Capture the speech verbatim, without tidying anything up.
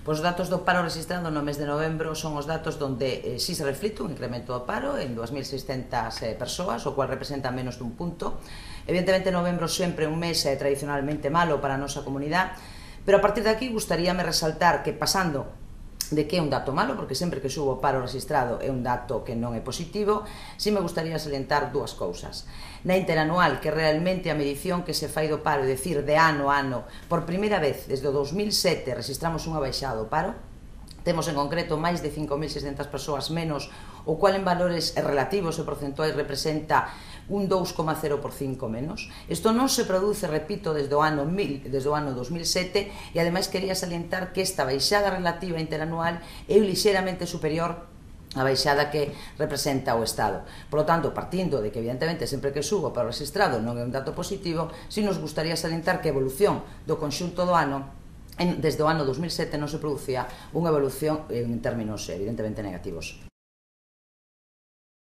Pois os datos do paro registrado no mes de novembro son os datos onde eh, si se reflite un incremento do paro en dúas mil seiscentas eh, persoas, o cual representa menos dun punto. Evidentemente, novembro sempre un mes eh, tradicionalmente malo para a nosa comunidade, pero a partir de aquí gustaríame resaltar que, pasando de que é un dato malo, porque sempre que subo o paro registrado é un dato que non é positivo, si me gustaría salientar dúas cousas. Na interanual, que realmente a medición que se fai do paro, é dicir, de ano a ano, por primeira vez desde o dos mil sete registramos unha baixada do paro, temos en concreto máis de cinco mil seiscentas persoas menos, o cual en valores relativos e porcentuais representa un dous coma cero por cinco menos. Isto non se produce, repito, desde o ano desde o ano dos mil sete, e ademais quería salientar que esta baixada relativa interanual é lixeiramente superior a baixada que representa o Estado. Por lo tanto, partindo de que evidentemente sempre que subo para o registrado non é un dato positivo, si nos gustaría salientar que a evolución do conxunto do ano desde o ano dos mil sete non se producía unha evolución en términos evidentemente negativos.